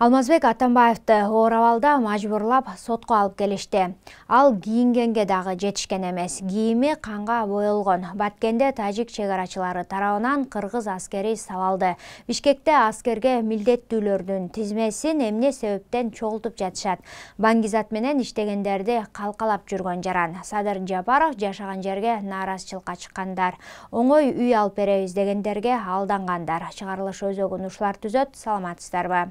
Алмазбек Атамбаевди Оорабалда мажбурлап сотко алып келишти. Ал кийингенге дагы жетишкен эмес. Кийими канга боелгон. Баткенде тажик чегарачылары тарабынан кыргыз аскери сабалды. Бишкекте аскерге милдеттүүлөрдүн тизмесин эмне себептен чогултуп жатышат? Баңгизат менен иштегендерди калкалап жүргөн жаран. Садыр Жапаров жашаган жерге нааразычылыкка чыккандар. Оңой үй алып беребиз дегендерге алдангандар. Чыгарылыш өзөгүн ушулар түзөт. Саламатсыздарбы?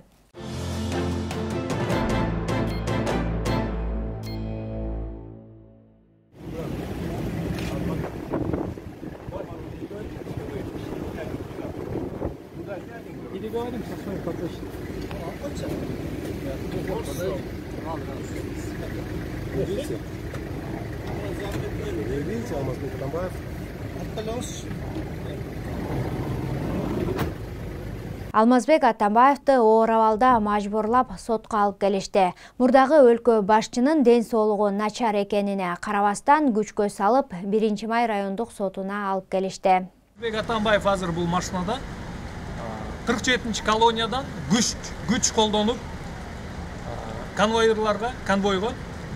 Переговорим со своим подписчиком. Видите, Алмазбек Атамбаев? Алмазбек Атамбаевди Оорабалда мажбурлап сотко алып келишти. Мурдагы өлкө башчынын ден соолугу начар экенине карабастан күчкө салып 1-май райондук сотуна алып келишти. Алмазбек Атамбаев азыр бул машинада 47-чи колониядан күч колдонуп конвойго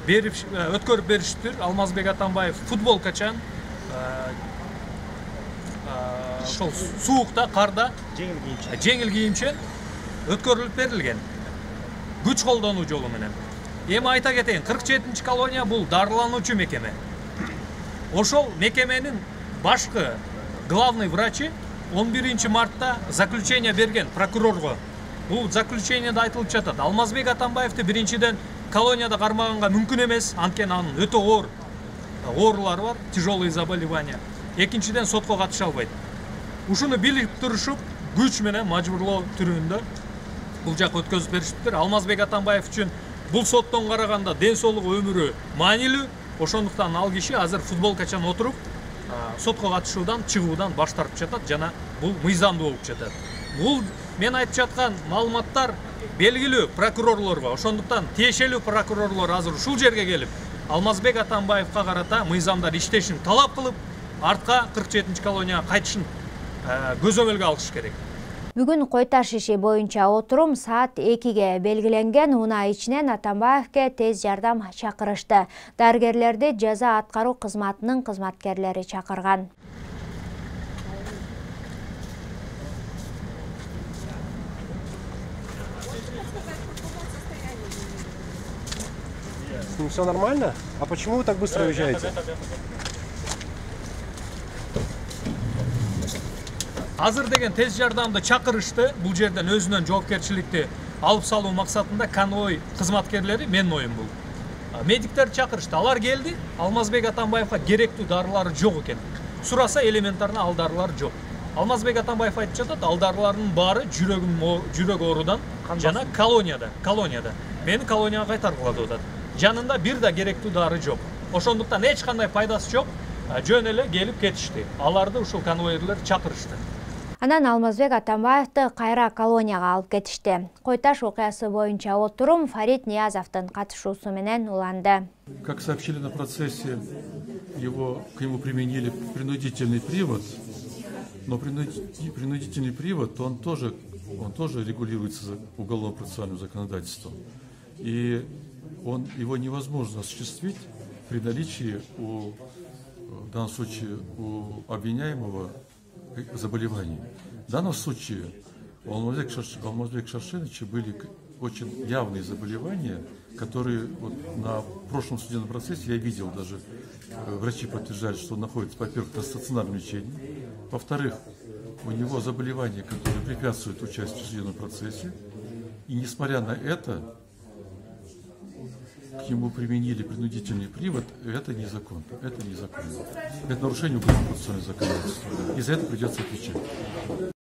өткөрүп бериштир. Алмазбек Атамбаев футболкачан ошол суукта, карда жеңил кийимчен өткөрүлүп берилген. Күч колдонуу жолу менен. Эми айта кетейин, 47-чи колония бул дарылануучу мекеме. Ошол мекеменин башкы главный врачы 11 мартта заключение берген прокурорго. Бул заключениеде айтылып жатат. Алмазбек Атамбаевди биринчиден колонияда кармаганга мүмкүн эмес, анткени анын өтө оор оорулары бар, тяжелые заболевания. Экинчиден сотко катыша албайт. Ушуну билип турушуп, күч менен мажбурлоо түрүндө бул жак өткөзүп беришиптир. Алмазбек Атамбаев үчүн бул соттон караганда ден соолугу өмүрү маанилүү. Ошондуктан ал киши азыр футболкачан отуруп сотко катышуудан, чыгуудан баш тартып жатат жана бул мыйзамдуу болуп жатат. Бул мен айтып жаткан маалыматтар белгилүү прокурорлорго, ошондуктан тиешелүү прокурорлор азыр ушул жерге келип Алмазбек Атамбаевга карата мыйзамдар иштешин талап кылып, артка 47-чи колонияга кайтышын көзөмөлгө алыш керек. Бүгүн Кой Таш иши боюнча отурум саат 2-ге белгиленген. Унаа ичинен Атамбаевге тез жардам чакырышты. Дарыгерлерди жаза аткаруу кызматынын кызматкерлери чакырган. С ним все нормально? А почему вы так быстро уезжаете? Азыр деген тез жардамды чакырышты. Бул жерден өзүнөн жоопкерчиликти алып салуу максатында конвой кызматкерлери, менин оюм бул. Медиктер чакырышты. Алар келди. Алмазбек Атамбаевга керектүү дарылары жок экен. Сураса элементарно ал дарылар жок. Алмазбек Атамбаев айтып жатат, ал дарылардын баары жүрөк оорудан жана колонияда. Мени колонияга кайтаргыла деп атат. Жанында бир да керектүү дары жок. Ошондуктан эч кандай пайдасы жок. Жөн эле келип кетишти. Аларды ушул конвойерлер чакырышты. Анан Алмазбек Атамбаевди кайра колонияга алып кетишти. Кой Таш окуясы боюнча отурум Фарид Ниязовдун катышуусу менен уланды. Как сообщили на процессе, к нему применили принудительный привод, но принудительный привод, он тоже регулируется уголовно-процессуальным законодательством. И его невозможно осуществить при наличии в данном случае у обвиняемого заболеваний. В данном случае у Алмазбека Шаршеновича были очень явные заболевания, которые на прошлом судебном процессе я видел, даже врачи подтверждали, что он находится, во-первых, на стационарном лечении, во-вторых, у него заболевания, которые препятствуют участию в судебном процессе, и несмотря на это, к нему применили принудительный привод, это незаконно. Это нарушение уголовно-процессуального законодательства. И за это придется отвечать.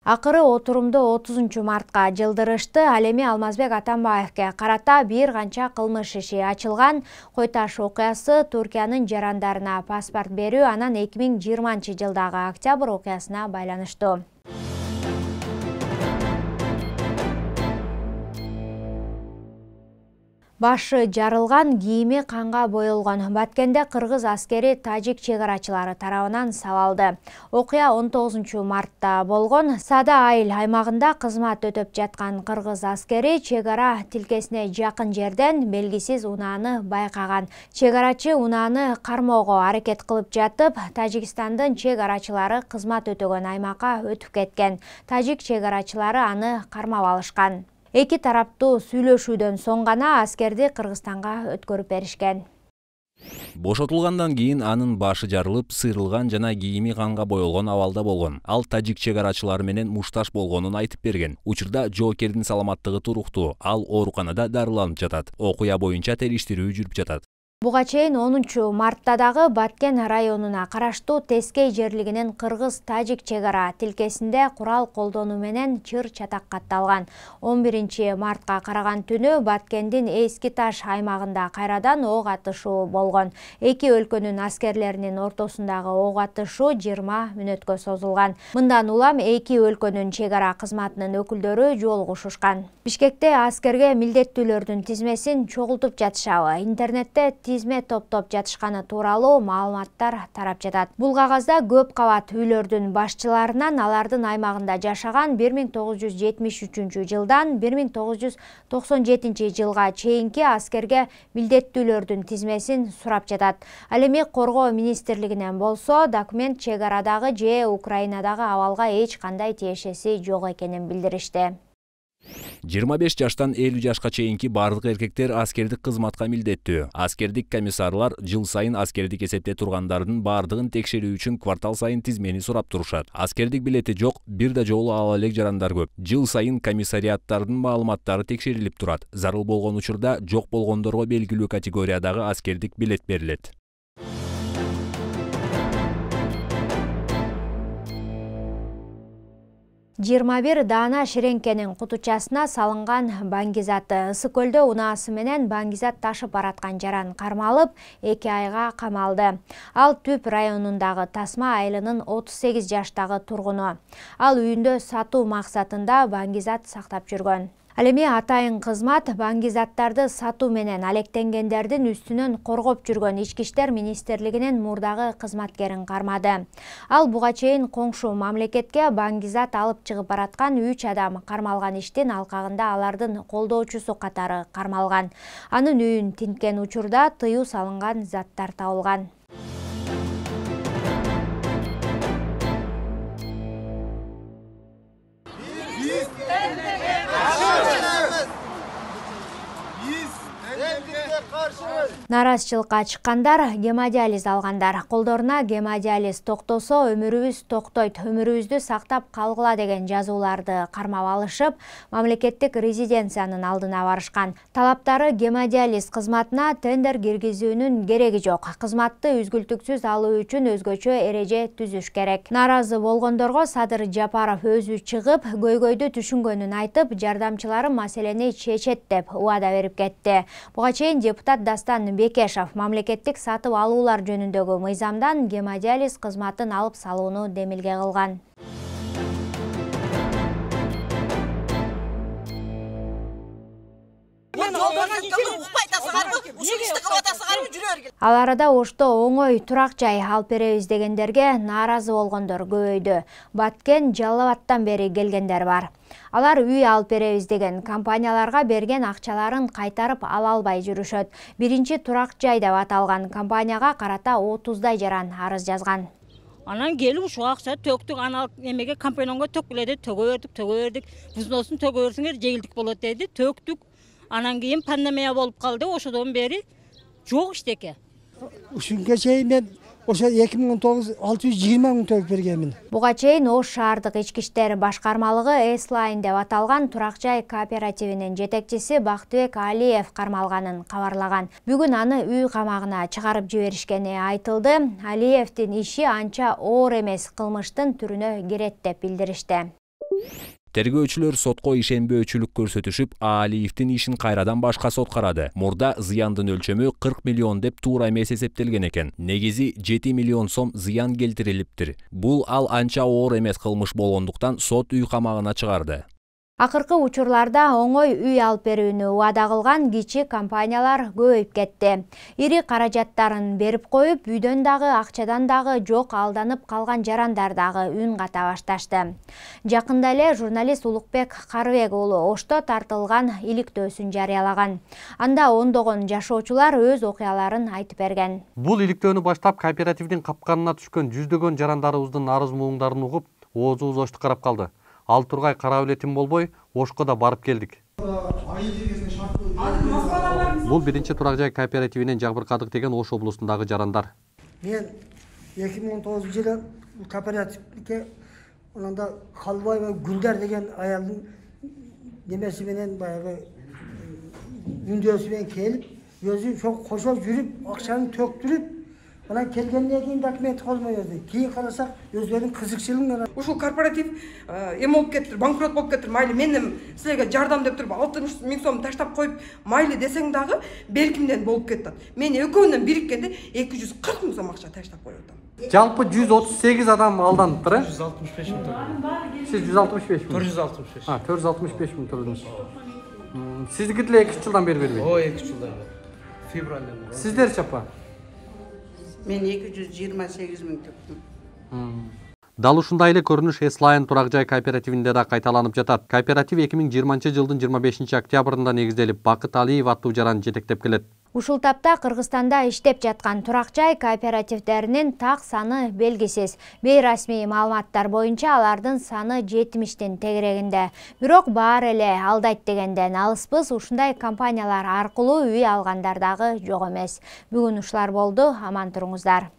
Акыры отурумду 30-мартка жылдырышты. Ал эми Алмазбек Атамбаевге карата бир канча кылмыш иши ачылган. Кой Таш окуясы Түркиянын жарандарына паспорт берүү анан 2020-жылдагы октябрь окуясына байланыштуу. Башы жарылган, кийими канга боелгон. Баткенде кыргыз аскери тажик чегарачылары тарабынан сабалды. Окуя 19 мартта болгон. Сада айыл аймагында кызмат өтөп жаткан кыргыз аскери чегара тилкесине жакын жерден белгисиз унааны байкаган. Чегарачы унааны кармоого аракет кылып жатып, Тажикстандын чегарачылары кызмат өтөгөн аймакка өтүп кеткен. Тажик чегарачылары аны кармап алышкан. Эки тараптуу сүйлөшүүдөн соң гана аскерди Кыргызстанга өткөрүп беришкен. Бошотулгандан кийин анын башы жарылып, сыйрылган жана кийими канга боелгон абалда болгон. Ал тажик чегарачылары менен мушташ болгонун айтып берген. Учурда жоокердин саламаттыгы туруктуу. Ал ооруканада дарыланып жатат. Окуя боюнча териштирүү жүрүп жатат. Буга чейин 10 мартта дагы Баткен районуна караштуу Тескей жерлигинин кыргыз-тажик чегара тилкесинде курал колдонуу менен чыр-чатак катталган. 11 мартка караган түнү Баткендин Эски Таш аймагында кайрадан ок атышуу болгон. Эки өлкөнүн аскерлеринин ортосундагы ок атышуу 20 мүнөткө созулган. Мындан улам эки өлкөнүн чегара кызматынын өкүлдөрү жолугушушкан. Бишкекте аскерге милдеттүүлөрдүн тизмесин чогултуп жатышабы? Интернетте тизме топтоп жатышканы тууралуу маалыматтар тарап жатат. Бул кагазда көп кабат үйлөрдүн башчыларынан алардын аймагында жашаган 1973 жылдан 1997 жылга чейинки аскерге милдеттүүлөрдүн тизмесин сурап жатат. Ал эми Коргоо министрлигинен болсо, документ чегарадагы же Украинадагы абалга эч кандай тиешеси жок экенин билдиришти. 25 жаштан 50 жашка чейинки бардык эркектер аскердик кызматка милдеттүү. Аскердик комиссарлар жыл сайын аскердик эсепте тургандардын бардыгын текшерүү үчүн квартал сайын тизмени сурап турушат. Аскердик билети жок, бир да жолу ала элек жарандар көп. Жыл сайын комиссариаттардын маалыматтары текшерилип турат. Зарыл болгон учурда жок болгондорго белгилүү категориядагы аскердик билет берилет. 21 даана ширеңкенин кутучасына салынган баңгизаты. Ысык көлдө унаасы менен баңгизат ташып бараткан жаран кармалып, 2 айга камалды. Ал Түп районундагы Тасма айылынын 38 жаштагы тургуну. Ал үйүндө сатуу максатында баңгизат сактап жүргөн. Ал эми атайын кызмат баңгизаттарды сатуу менен алектенгендердин үстүнөн коргоп жүргөн Ички иштер министрлигинин мурдагы кызматкерин кармады. Ал буга чейин коңшу мамлекетке баңгизат алып чыгып бараткан 3 адам кармалган иштин алкагында алардын колдоочусу катары кармалган. Анын үйүн тинткен учурда тыюу салынган заттар табылган. Наразычылыкка чыккандар, гемодиализ алгандар. Колдоруна гемодиализ токтосо өмүрүбүз токтойт, өмүрүбүздү сактап калгыла деген жазууларды кармап алышып, мамлекеттик резиденциянын алдына барышкан. Талаптары гемодиализ кызматына тендер киргизүүнүн кереги жок. Кызматты үзгүлтүксүз алуу үчүн өзгөчө эреже түзүш керек. Наразы болгондорго Садыр Жапаров өзү чыгып, көйгөйдү түшүнгөнүн айтып, жардамчылары маселени чечет деп убада берип кетти. Буга чейин депутат Дастан Бекешов мамлекеттик сатып алуулар жөнүндөгү мыйзамдан гемодиализ кызматын алып салууну демилге кылган. Ал арада Ошто оңой турак жай алып беребиз дегендерге нааразы болгондор көбөйдү. Баткен, Жалал Абадтан бери келгендер бар. Алар үй алып беребиз деген компанияларга берген акчаларын кайтарып ала албай жүрүшөт. Биринчи турак жай деп аталган компанияга карата 30дай жаран арыз жазган. Анан келип ушул акча төктүк, анан эмеге компанионго төккүлө төгө бердик. Взносун төгө берсеңер жеңилдик болот деди, төктүк. Анан кийин пандемия болуп калды, ошодон бери жок иштеке. Ушунга чейин мен ошо 2019 620 мың төгүп бергенмин. Буга чейин Ош шаардык ички иштер башкармалыгы S-Line деп аталган турак жай кооперативинин жетекчиси Бактыбек Алиев кармалганын кабарлаган. Бүгүн аны үй камагына чыгарып жиберишкени айтылды. Алиевдин иши анча оор эмес, кылмыштын түрүнө кирет деп билдиришти. Тергөөчүлөр сотко ишенбөөчүлүк көрсөтүшүп, Алиевдин ишин кайрадан башка сот карады. Мурда зыяндын өлчөмү 40 миллион деп туура эмес эсептелген экен. Негизи 7 миллион сом зыян келтирилиптир. Бул ал анча оор эмес кылмыш болгондуктан сот үй камагына чыгарды. Акыркы учурларда оңой үй алып берүүнү убада кылган кичи компаниялар көбөйүп кетти. Ири каражаттарын берип коюп, үйдөн дагы, акчадан дагы жок алданып калган жарандар дагы үн ката башташты. Жакында эле журналист Улукбек Карыбек уулу Ошто тартылган иликтөөсүн жарыялаган. Анда ондогон жашоочулар өз окуяларын айтып берген. Бул иликтөөнү баштап кооперативдин капканына түшкөн жүздөгөн жарандарыбыздын арыз-мууңдарын угуп, оозубуз Ошто карап калды. Ал тургай карап элетим болбой, Ошко да барып келдик. Бул биринчи турак жай кооперативинен жабыркадык деген Ош облусундагы жарандар. Мен 2019-жылы кооперативге онда Халбаева Гүлдар деген аялдын немеси менен баягы үндөсү менен келип, өзү ошо кошо жүрүп, акчаны төктүрүп, анан келгенден кийин документ колмо берди. Кийин карасак, өзлөрүнүн кызыкчылыгы ушул корпоратив эме болуп кетти, банкрот болуп кетти. Майли мен силерге жардам деп туруп 60 000 сом таштап коюп, майли десең дагы белкимден болуп кетет. Мен экөөнөн бириккенде 240 000 сом акча таштап коюп атам. Жалпы 138 адам алданыптыр, 165 000 турду. Сиз 165 000. 465. 465 000 турдуңуз. Сиздики деле 2 жылдан бери бербейт. Ой, 2 жылдан бери. Февралдан. Сиздерчи апа? Мен 228 000 төктүм. Дал ушундай эле көрүнүш Эслайн турак жай кооперативинде да кайталанып жатат. Кооператив 2020-жылдын 25 октябрында негизделип, Бакыт Алиев аттуу жаран жетектеп келет. Ушул тапта Кыргызстанда иштеп жаткан турак жай кооперативдеринин так саны белгисиз. Бейрасмий маалыматтар боюнча алардын саны 70тин тегерегинде. Бирок баары эле алдайт дегенден алыспыз, ушундай компаниялар аркылуу үй алгандар дагы жок эмес. Бүгүн ушулар болду, аман туруңуздар.